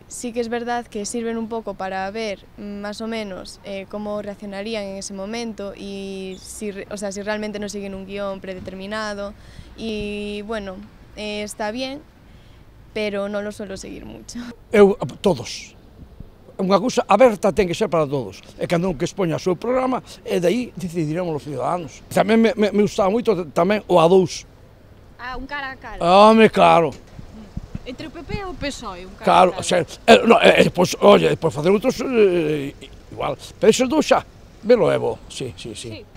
Sí que es verdad que sirven un poco para ver más o menos cómo reaccionarían en ese momento y si realmente no siguen un guión predeterminado. Y bueno, está bien, pero non lo suelo seguir mucho. Todos. Unha cousa aberta ten que ser para todos. E cando un que expoña o seu programa, e daí decidiremos os ciudadanos. Tamén me gustaba moito tamén o A2. Un cara a cara. Home, claro. Entre o PP e o PSOE, un cara Claro, a cara. depois, oye, depois facer outros igual. Pero esos dous xa, velo é bo, sí.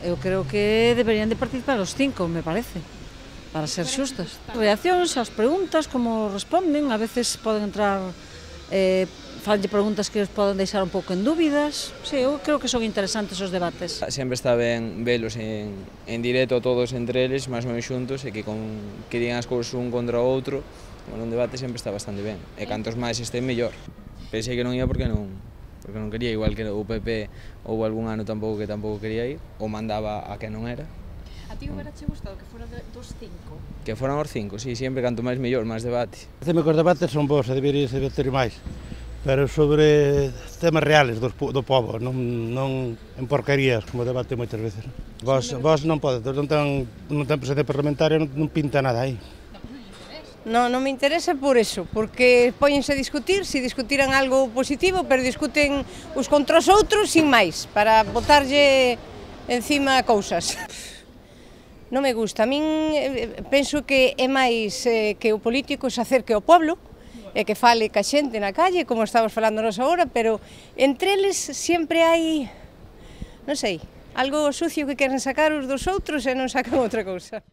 Eu creo que deberían de participar os 5, me parece, para ser xustas. Reaccións ás preguntas, como responden, a veces poden entrar, falanlle preguntas que os poden deixar un pouco en dúbidas. Sí, eu creo que son interesantes os debates. Sempre está ben velos en directo todos entre eles, máis ou menos xuntos, e que digan as cousas un contra o outro. Un debate sempre está bastante ben, e cantos máis estén, mellor. Pensei que non ia porque non quería, igual que o PP houve algún ano que tampouco quería ir, ou mandaba a que non era. A ti hubiera che gustado que fora dos 5? Que foran os 5, sí, sempre canto máis mellor, máis debate. Parece-me que os debates son bons e deberían ter máis, pero sobre temas reales do povo, non en porquerías, como debate moitas veces. Vos non pode, non ten presencia parlamentaria, non pinta nada aí. Non me interesa por eso, porque póñense a discutir, se discutiran algo positivo, pero discuten uns contra os outros sin máis, para botarlle encima cousas. Non me gusta, a min penso que é máis que o político se acerque ao pueblo e que fale ca xente na calle, como estamos falando nos agora, pero entre eles sempre hai, non sei, algo sucio que queren sacar os dos outros e non sacan outra cousa.